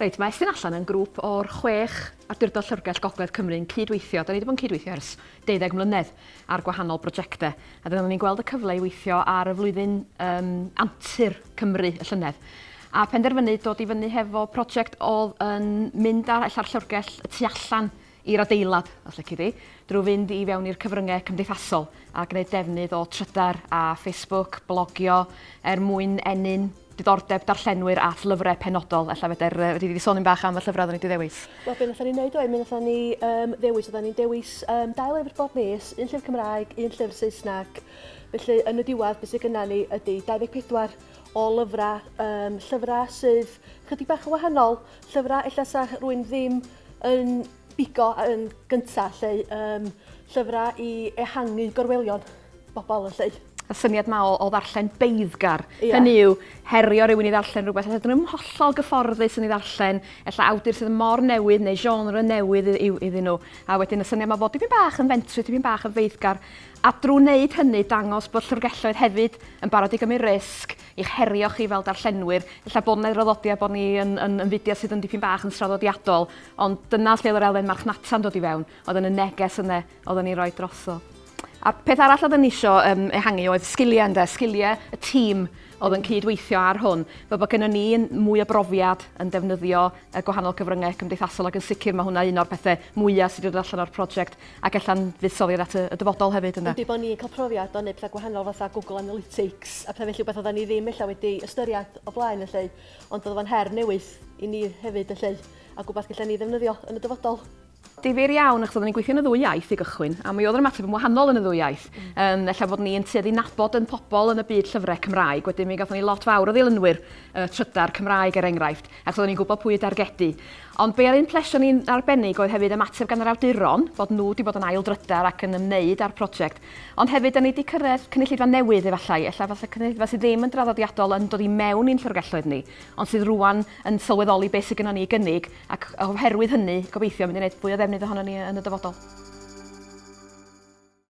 Reit, mae Estyn Allan yn grŵp o'r 6 awdurdod llyfrgell Gogledd Cymru yn cydweithio. Da ni wedi bod yn cydweithio ers 12 mlynedd ar gwahanol brosiectau. A dyna ni'n gweld y cyfle i weithio ar y flwyddyn antur Cymru y llynedd. A penderfynu dod i fyny hefo prosiect oedd yn mynd ar ella'r llyfrgell y tu allan i'r adeilad, os lici di, drwy fynd i fewn i'r cyfryngau cymdeithasol a gwneud defnydd o Trydar a Facebook, blogio, er mwyn ennyn diddordeb darllenwyr at lyfrau penodol. Ella fedr, fedri di sôn un bach am y llyfrau oedden ni wedi ddewis? Wel, be wnaethon ni wneud oedd, mi wnaethon ni ddewis, oedden ni'n dewis 2 lyfr bob mis, un llyfr Cymraeg, un llyfr Saesneg. Felly, yn y diwedd, beth sydd gynna ni ydy 24 o lyfrau, llyfrau sydd chydig bach yn wahanol, llyfrau ella sa rhywun ddim yn bigo yn gyntaf, lle llyfrau i ehangu gorwelion bobl yn lle. Y syniad ma o ddarllen beiddgar. Hynny yw, herio rhywun i ddarllen rhywbeth, ella dyn nhw'n hollol gyfforddus yn ei ddarllen, ella awdur sydd mor newydd neu genre newydd iddyn nhw. A wedyn y syniad ma fod dipyn bach yn fentrus, dipyn bach yn feiddgar. A drwy wneud hynny, dangos bod llyfrgelloedd hefyd yn barod i gymryd risg, i'ch herio chi fel darllenwyr. Ella bod yna draddodiad bod ni yn fudiad sydd yn dipyn bach yn traddodiadol, ond dyna lle oedd yr elfen marchnata'n dod i fewn, oedd yn y neges yna oedden ni'n rhoi drosodd. A peth arall oedden ni isio ehangu oedd sgiliau ynde, sgiliau y tîm oedd yn cydweithio ar hwn. Fel bod gennym ni mwy o brofiad yn defnyddio y gwahanol cyfryngau cymdeithasol, ac yn sicr mae hwnna un o'r pethau mwyaf sydd wedi dod allan o'r prosiect ac ella'n fuddsoddiad at y dyfodol hefyd ynde. Yndi, bod ni'n cael profiad o wneud pethau gwahanol fatha Google Analytics a pethau felly, beth oedden ni ddim ella wedi ystyried o blaen felly, ond oedd o'n her newydd i ni hefyd felly, a gwbeth gallen ni ddefnyddio yn y dyfodol. Difyr iawn, achos oedden ni'n gweithio yn y ddwy iaith i gychwyn, a mi oedd yr ymateb yn wahanol yn y ddwy iaith. Ella fod ni'n tueddu nabod yn pobl yn y byd llyfrau Cymraeg, wedyn mi gathon ni lot fawr o ddilynwyr Trydar Cymraeg er enghraifft, achos oedden ni'n gwybod pwy i dargedu. Ond be oedd ein plesio ni'n arbennig oedd hefyd ymateb gan yr awduron, bod nhw wedi bod yn ail drydar ac yn ymwneud â'r prosiect. Ond hefyd, da ni wedi cyrraedd cynulleidfa newydd efallai, ella falle cynulleidfa sydd ddim yn draddodiadol yn dod i mewn i'n llyfrgelloedd ni, ond sydd rŵan yn sylweddoli beth sydd gynnon ni i gynnig, ac oherwydd hynny, gobeithio, mynd i wneud fwy o ddefnydd ohono ni yn y dyfodol.